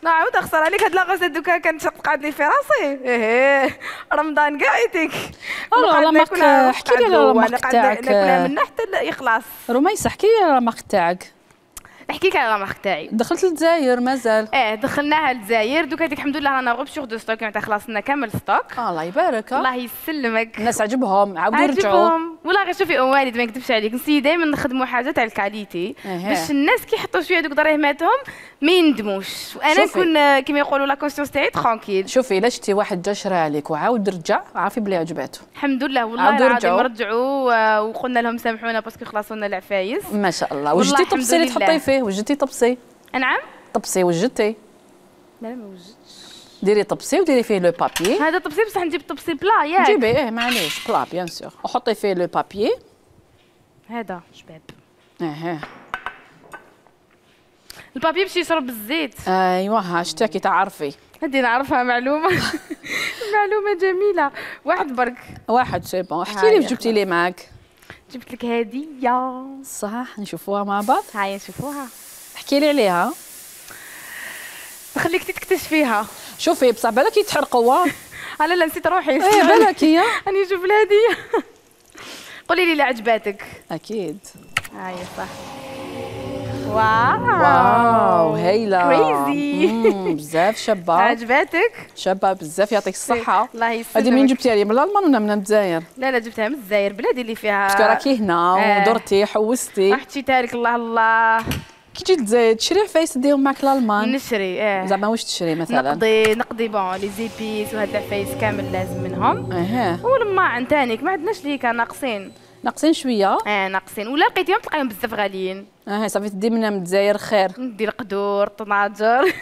Speaker 2: نعاود اخسر عليك هاد لاغوسيت دوكا كانت تقعد لي في راسي. ايه رمضان كاع يتيك.
Speaker 1: والله لا ماك احكي لي على الماق تاعك.
Speaker 2: ناكلها من حتى يخلص.
Speaker 1: رميسه احكي لي على الماق تاعك.
Speaker 2: احكي لك على الماق تاعي.
Speaker 1: دخلت للجزائر مازال؟
Speaker 2: اه دخلناها للجزائر دوكا هذيك الحمد لله رانا غوب سيغ دو ستوك معناتها خلصنا كامل ستوك.
Speaker 1: الله يبارك.
Speaker 2: الله يسلمك.
Speaker 1: الناس عجبهم عاودوا يرجعوا.
Speaker 2: عجبهم والله غير شوفي ام والد ما نكذبش عليك نسي دائما نخدموا حاجه تاع الكاليتي باش الناس كي يحطوا شويه دوك دراهماتهم ما يندموش وانا نكون كيما يقولوا لا كونسيونس تاعي ترونكيل.
Speaker 1: شوفي الا شتي واحد جا شرا عليك وعاود رجع عرفي بلي عجباته.
Speaker 2: الحمد لله والله العظيم رجعوا وقلنا لهم سامحونا باسكو خلصوا لنا العفايس.
Speaker 1: ما شاء الله. وجدتي طبسي اللي تحطي فيه؟ وجدتي طبسي؟
Speaker 2: نعم
Speaker 1: طبسي وجدتي؟
Speaker 2: لا ما وجدتش.
Speaker 1: ديري طبسي وديري فيه لو بابي.
Speaker 2: هذا طبسي بصح نجيب طبسي بلا ياك.
Speaker 1: جيبي ايه معليش بلا بيان سور وحطي فيه لو بابي.
Speaker 2: هذا شباب.
Speaker 1: اها
Speaker 2: البابي باش يشرب الزيت.
Speaker 1: ايوا ها شتاكي تعرفي.
Speaker 2: هادي نعرفها معلومه. معلومه جميله. واحد برك.
Speaker 1: واحد سي بون. احكي لي واش جبتي لي معاك.
Speaker 2: جبت لك هديه.
Speaker 1: صح نشوفوها مع بعض.
Speaker 2: هاي نشوفوها.
Speaker 1: احكي لي عليها.
Speaker 2: نخليك تكتشفيها.
Speaker 1: شوفي بصح بالك يتحرقوا.
Speaker 2: لا لا نسيت روحي.
Speaker 1: ايه بالك هي.
Speaker 2: راني نشوف الهديه. قولي لي اللي عجباتك.
Speaker 1: اكيد.
Speaker 2: هاي صح. واو
Speaker 1: واو هايله.
Speaker 2: كريزي.
Speaker 1: بزاف شابه.
Speaker 2: عجباتك؟
Speaker 1: شابه بزاف يعطيك الصحه.
Speaker 2: الله يسلمك.
Speaker 1: هذه منين جبتيها لي من الالمان ولا من الجزائر؟
Speaker 2: لا لا جبتها من الجزائر بلادي اللي فيها.
Speaker 1: باسكو راكي هنا ودرتي حوستي.
Speaker 2: حطيتها لك الله الله.
Speaker 1: كي تجي للجزائر تشري عفايس ديهم معك الالمان؟
Speaker 2: نشري اه.
Speaker 1: زعما واش تشري مثلا؟
Speaker 2: نقضي نقضي بون لي زيبيس وهاد العفايس كامل لازم منهم.
Speaker 1: اها.
Speaker 2: والماعن تانيك ما عندناش ليكا ناقصين.
Speaker 1: ناقصين شويه.
Speaker 2: اه ناقصين ولا لقيتيهم تلقاهم بزاف غاليين.
Speaker 1: اه صافي تدي منها من الجزائر خير.
Speaker 2: ندير قدور طناجر.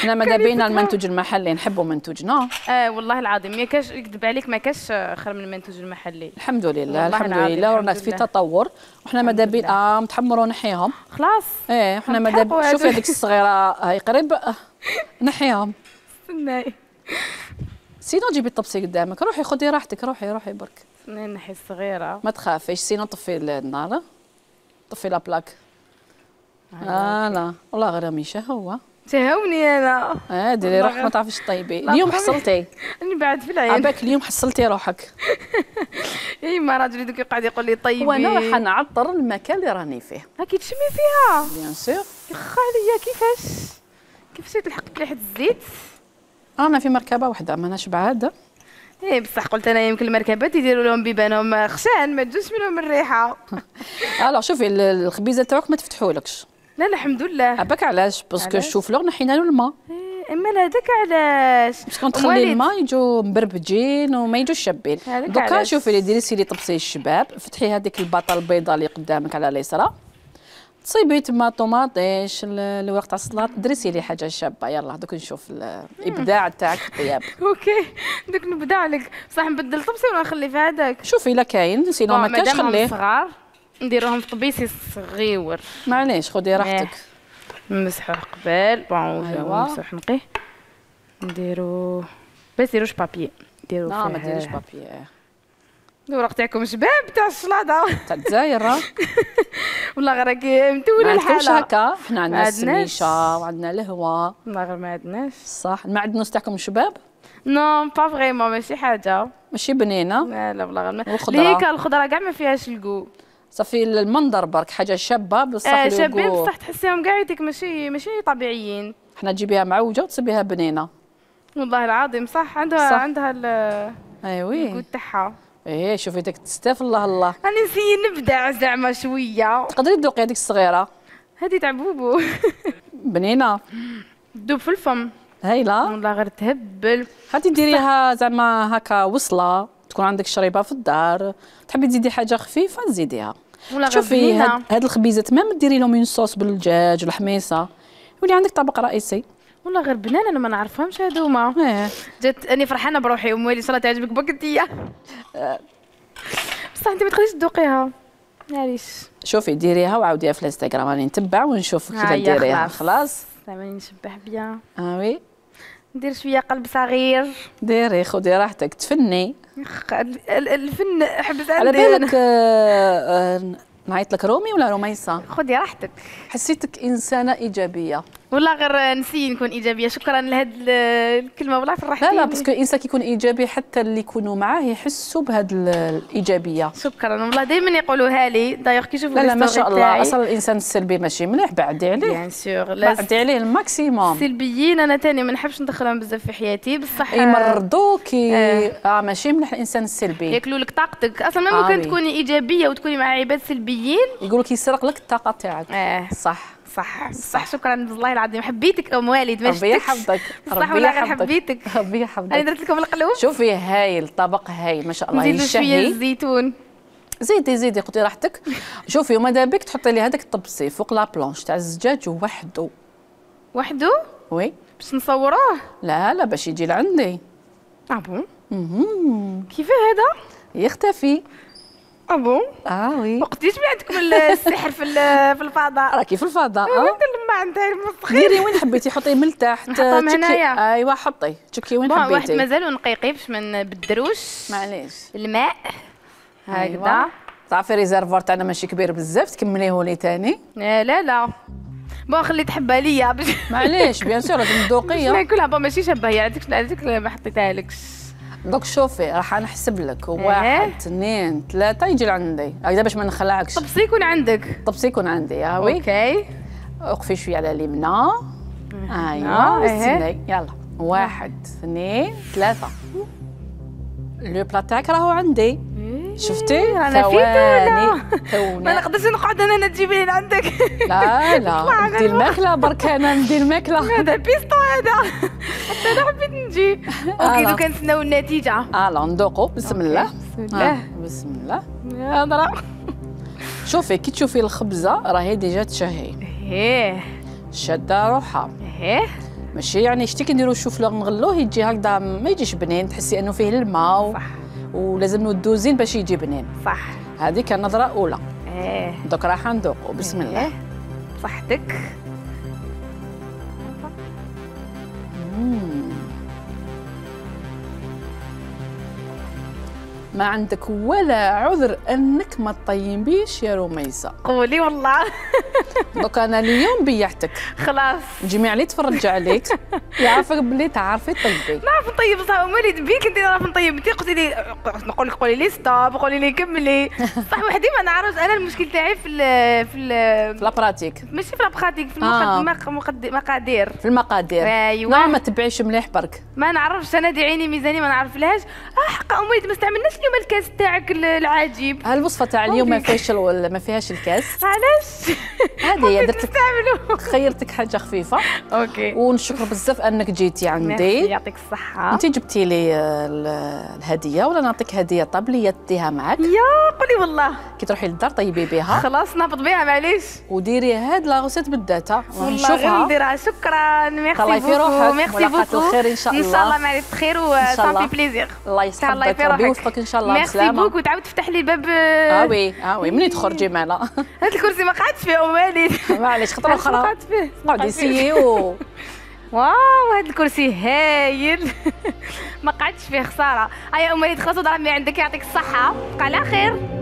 Speaker 1: حنا ماذا بينا المنتوج المحلي نحبوا منتوجنا.
Speaker 2: اه والله العظيم ما كاش يكذب عليك ما كاش خير من المنتوج المحلي.
Speaker 1: الحمد لله الحمد لله ورانا في تطور وحنا ماذا بينا اه متحمروا نحيهم.
Speaker 2: خلاص.
Speaker 1: ايه حنا ماذا شوفي هذيك الصغيره هاي قريب نحيهم.
Speaker 2: استناي.
Speaker 1: سينو جيبي الطبسي قدامك روحي خذي راحتك روحي روحي برك.
Speaker 2: نحي الصغيره.
Speaker 1: ما تخافيش سينو طفي النار طفي لا بلاك. اه لا والله غير ميشه هو.
Speaker 2: تهوني انا.
Speaker 1: اه ديري روحك ما تعرفيش طيبي. اليوم حصلتي.
Speaker 2: راني بعد في العين.
Speaker 1: عباك اليوم حصلتي روحك.
Speaker 2: اي ما راجلي دوك يقعد يقول لي طيبي.
Speaker 1: وانا راح نعطر المكان اللي راني فيه.
Speaker 2: راكي تشمي فيها.
Speaker 1: بيان سور.
Speaker 2: يخا عليا كيفاش كيفاش تلحق مليحه الزيت.
Speaker 1: انا في مركبه وحده ماناش بعاد.
Speaker 2: ايه بصح قلت انا يمكن المركبات يديروا لهم بيبانهم خشان ما تجوش منهم الريحه.
Speaker 1: الو شوفي الخبيزه تاعك ما تفتحولكش.
Speaker 2: لا لا الحمد لله.
Speaker 1: عباك علاش باسكو الشوفلور نحينا له الماء.
Speaker 2: إيه اما هذاك علاش
Speaker 1: باسكو تخلي الماء يجوا مبربجين وما يجوش شابين. دوكا شوفي اللي ديري سيري طبسي الشباب فتحي هذيك الباطه البيضاء اللي قدامك على اليسرى تصيبي تما طوماطيش الورق تاع السلطه درسي لي حاجه شابه. يلا دوك نشوف الابداع تاعك في الطياب.
Speaker 2: اوكي دوك نبدع لك صح نبدل طبسي ولا نخلي في هذاك.
Speaker 1: شوفي الا كاين سينو ما كاينش خليه.
Speaker 2: صغار نديروهم في طبيسي صغيور.
Speaker 1: معليش خدي راحتك.
Speaker 2: نمسحوه قبل بون نمسح نقيه نديرو بس ديروش بابي ديرو
Speaker 1: لا ما ديريش بابي.
Speaker 2: الورق تاعكم شباب تاع الشلاضه
Speaker 1: تاع الجزائر.
Speaker 2: والله غير راكي متوله الحاله.
Speaker 1: ما عندكمش هكا حنا عندنا السميشه وعندنا الهوا.
Speaker 2: والله غير ما عندناش.
Speaker 1: صح المعدنوس تاعكم شباب؟
Speaker 2: نو با فريمون ماشي حاجه
Speaker 1: ماشي بنينه.
Speaker 2: لا لا والله غير
Speaker 1: الخضره
Speaker 2: ليك الخضره كاع ما فيهاش الكو.
Speaker 1: صافي المنظر برك حاجه شابه بصح
Speaker 2: آه شابين بصح تحسيهم كاع يديك ماشي ماشي طبيعيين.
Speaker 1: حنا تجيبيها معوجه وتصيبيها بنينه.
Speaker 2: والله العظيم صح عندها صح. عندها ال
Speaker 1: ايوي
Speaker 2: الكو تاعها.
Speaker 1: ايه شوفي ديك تستاف الله الله.
Speaker 2: راني نسي نبدع زعما شويه.
Speaker 1: تقدري تذوقي هذيك الصغيره.
Speaker 2: هذه تاع بوبو.
Speaker 1: بنينه.
Speaker 2: تذوب في الفم.
Speaker 1: هايله.
Speaker 2: والله غير تهبل.
Speaker 1: هاتي ديريها زعما هكا وصله تكون عندك شريبه في الدار تحبي تزيدي حاجه خفيفه تزيديها. شوفي هاد, هاد الخبيزات ما ديري لهم صوص بالدجاج والحميصه يولي عندك طبق رئيسي.
Speaker 2: والله غير بنان انا ما نعرفهمش هذوما.
Speaker 1: ايه
Speaker 2: جات اني فرحانه بروحي ام ويلي ان شاء الله تعجبك بك انتيا. بصح انت ما تقدريش تذوقيها. معليش.
Speaker 1: شوفي ديريها وعاوديها في الانستغرام، راني نتبع ونشوف كيف ديريها. خلاص
Speaker 2: راني نشبح بيان.
Speaker 1: اه وي
Speaker 2: ندير شويه قلب صغير.
Speaker 1: ديري خدي راحتك تفني.
Speaker 2: الفن حبس عندي.
Speaker 1: على بالك آه آه نعيط لك رومي ولا رميصه؟
Speaker 2: خدي راحتك.
Speaker 1: حسيتك انسانه ايجابيه.
Speaker 2: والله غير نسي نكون ايجابيه. شكرا لهاد الكلمه والله فرحتيني.
Speaker 1: لا لا باسكو الانسان كيكون ايجابي حتى اللي يكونوا معاه يحسوا بهاد الايجابيه.
Speaker 2: شكرا والله دائما يقولوها لي دايوغ كي يشوفوا
Speaker 1: لا لا ما شاء الله. اصلا الانسان السلبي ماشي مليح، بعدي عليه
Speaker 2: بيان سور.
Speaker 1: بعدي عليه الماكسيموم.
Speaker 2: السلبيين انا ثاني ما نحبش ندخلهم بزاف في حياتي بصح
Speaker 1: يمرضوك. اه, آه ماشي مليح الانسان السلبي،
Speaker 2: ياكلوا لك طاقتك. اصلا ما ممكن آه تكوني ايجابيه وتكوني مع عباد سلبيين
Speaker 1: يقولوا كيسرق لك الطاقه تاعك.
Speaker 2: اه
Speaker 1: صح
Speaker 2: صح صح. شكرا والله العظيم. حبيتك ام والد ما شفتكش.
Speaker 1: ربي يحفظك.
Speaker 2: صح والله غير حبيتك.
Speaker 1: ربي يحفظك.
Speaker 2: انا درت لكم القلوب.
Speaker 1: شوفي هايل طبق هايل ما شاء الله.
Speaker 2: نزيدوا شويه الزيتون.
Speaker 1: زيدي زيدي خدي راحتك. شوفي وماذا بك تحطي لي هذاك الطبسي فوق لا بلونش تاع الزجاج وحده.
Speaker 2: وحده؟
Speaker 1: وي.
Speaker 2: باش نصوروه؟
Speaker 1: لا لا باش يجي لعندي.
Speaker 2: اه بون؟
Speaker 1: اها.
Speaker 2: كيفاه هذا؟
Speaker 1: يختفي.
Speaker 2: اه بون؟
Speaker 1: اه وي.
Speaker 2: وقتاش من عندكم السحر في في الفضاء؟
Speaker 1: راكي في الفضاء.
Speaker 2: اه لما عندها المسخير.
Speaker 1: ديري وين حبيتي حطي من تحت.
Speaker 2: نحطهم هنايا.
Speaker 1: ايوا حطي تشكي وين حبيتي.
Speaker 2: واحد مازال نقيقي باش ما نبدروش.
Speaker 1: معليش.
Speaker 2: الماء هكذا.
Speaker 1: أيوة. تعرفي ريزرفوار تاعنا ماشي كبير بزاف تكمليه لي ثاني.
Speaker 2: لا لا لا بون خلي تحبها ليا باش
Speaker 1: معليش بيان سور لازم تذوقيها.
Speaker 2: ناكلها بون ماشي شابه هي هذيك هذيك ما حطيتهالكش.
Speaker 1: دوك شوفي راح نحسب لك واحد اثنين ثلاثة يجي لعندي هكذا باش ما نخلعكش.
Speaker 2: طبسي يكون عندك.
Speaker 1: طبسي يكون عندي يا وي.
Speaker 2: اوكي
Speaker 1: وقفي شويه على اليمنى. ايوا استني يلا واحد اثنين ثلاثة. لو بلا تاعك راهو عندي. شفتي؟
Speaker 2: انا ثواني
Speaker 1: ثواني
Speaker 2: ما نقدرش نقعد انا تجيبي لي عندك.
Speaker 1: لا لا ندي الماكله برك انا ندي الماكله.
Speaker 2: هذا بيستو هذا حتى انا حبيت نجي. اوكي دوكا نتسناو النتيجه.
Speaker 1: اه ندوقو بسم الله.
Speaker 2: بسم الله.
Speaker 1: آه. بسم الله.
Speaker 2: هضره.
Speaker 1: شوفي كي تشوفي الخبزه راهي ديجا تشهي.
Speaker 2: ايه
Speaker 1: شاده روحها.
Speaker 2: ايه
Speaker 1: ماشي يعني شتي كي نديرو الشوفلوغ نغلوه يجي هكذا ما يجيش بنين، تحسي انه فيه الماء و...
Speaker 2: صح.
Speaker 1: ولازم ندو زين باش يجي بنين.
Speaker 2: صح.
Speaker 1: هذه كان نظره اولى.
Speaker 2: ايه
Speaker 1: دوك راح ندوقو بسم الله.
Speaker 2: إيه. صحتك.
Speaker 1: مم. ما عندك ولا عذر انك ما تطيبيش يا رميسه.
Speaker 2: قولي والله.
Speaker 1: دوك انا اليوم بيعتك.
Speaker 2: خلاص.
Speaker 1: الجميع اللي تفرج عليك يعرفك بلي تعرفي تطيبي.
Speaker 2: نعرف نطيب صح مالي بيك انت نعرف نطيب. انت قلتي لي نقول لك قولي لي ستوب قولي لي كملي. صح وحدي ما نعرفش. انا المشكل تاعي في ال في ال
Speaker 1: في لابراتيك
Speaker 2: ماشي في لابراتيك في
Speaker 1: آه.
Speaker 2: المقادير.
Speaker 1: في المقادير.
Speaker 2: ايوا
Speaker 1: لا ما تبعيش مليح برك.
Speaker 2: ما نعرفش انا دي عيني ميزاني ما نعرفلهاش. اه حق امي ما استعملناش اليوم الكاس تاعك العجيب.
Speaker 1: هالوصفه تاع اليوم ما فيهاش ما فيهاش الكاس.
Speaker 2: علاش؟
Speaker 1: هذه درت
Speaker 2: نستعملو.
Speaker 1: خيرتك حاجه خفيفه.
Speaker 2: اوكي
Speaker 1: ونشكر بزاف انك جيتي عندي.
Speaker 2: يعطيك الصحه.
Speaker 1: انت جبتي لي الهديه ولا نعطيك هديه طابليه تديها معك.
Speaker 2: يا قولي والله
Speaker 1: كي تروحي للدار طيبي بها.
Speaker 2: خلاص نهبط بها معليش.
Speaker 1: وديري هاد لا غوسيت بالداتا
Speaker 2: ونشوفها. والله غير نديرها. شكرا ميرسي
Speaker 1: الله يفي روحك.
Speaker 2: ميرسي بوكو.
Speaker 1: الخير ان شاء الله.
Speaker 2: ان شاء الله معرفة خير وصافي بليزير.
Speaker 1: الله يسعدك ربي يوفقك ان شاء الله بسلامه.
Speaker 2: ميرسي بوكو. تعاود تفتح لي الباب.
Speaker 1: اه وي اه وي منين تخرجي معنا.
Speaker 2: هذا الكرسي ما قعدتش فيه ام والد.
Speaker 1: معليش خطره اخرى.
Speaker 2: ما قعدت فيه.
Speaker 1: قعدي سيو.
Speaker 2: واو هذا الكرسي هايل. ما قعدتش فيه خساره. هيا ام والد خلاص ضربني عندك يعطيك الصحه. بقى على خير.